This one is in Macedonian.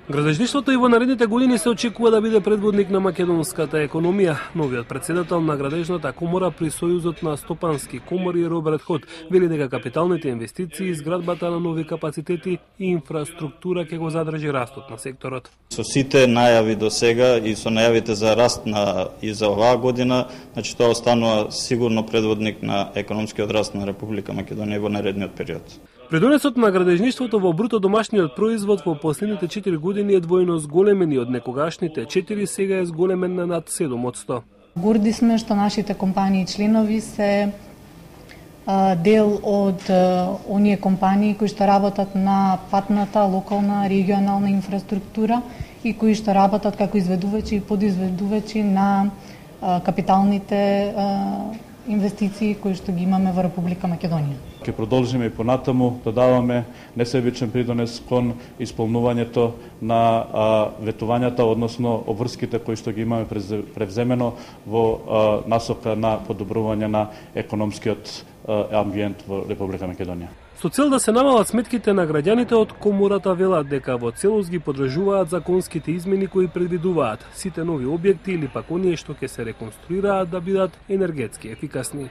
Градежништвото и во наредните години се очекува да биде предводник на македонската економија. Новиот претседател на Градежната комора при Сојузот на стопански комори Роберт Ход вели дека капиталните инвестиции, изградбата на нови капацитети и инфраструктура ќе го задржи растот на секторот. Со сите најави до сега и со најавите за раст и за оваа година, значи тоа останува сигурно предводник на економскиот раст на Република Македонија во наредниот период. Придонесот на градежништвото во бруто домашниот производ во последните 4 години е двојно зголемен и од некогашните 4 сега е зголемен на над 7%. Горди сме што нашите компании членови се дел од оние компании кои што работат на патната, локална, регионална инфраструктура и кои што работат како изведувачи и подизведувачи на капиталните инвестиции кои што ги имаме во Република Македонија. Ќе продолжиме и понатаму да даваме несебичен придонес кон исполнувањето на ветувањата, односно обврските кои што ги имаме превземено во насока на подобрување на економскиот амбиент во Република Македонија. Со цел да се намалат сметките на граѓаните, од комората велат дека во целост ги поддржуваат законските измени кои предвидуваат сите нови објекти или пак оние што ќе се реконструираат да бидат енергетски ефикасни.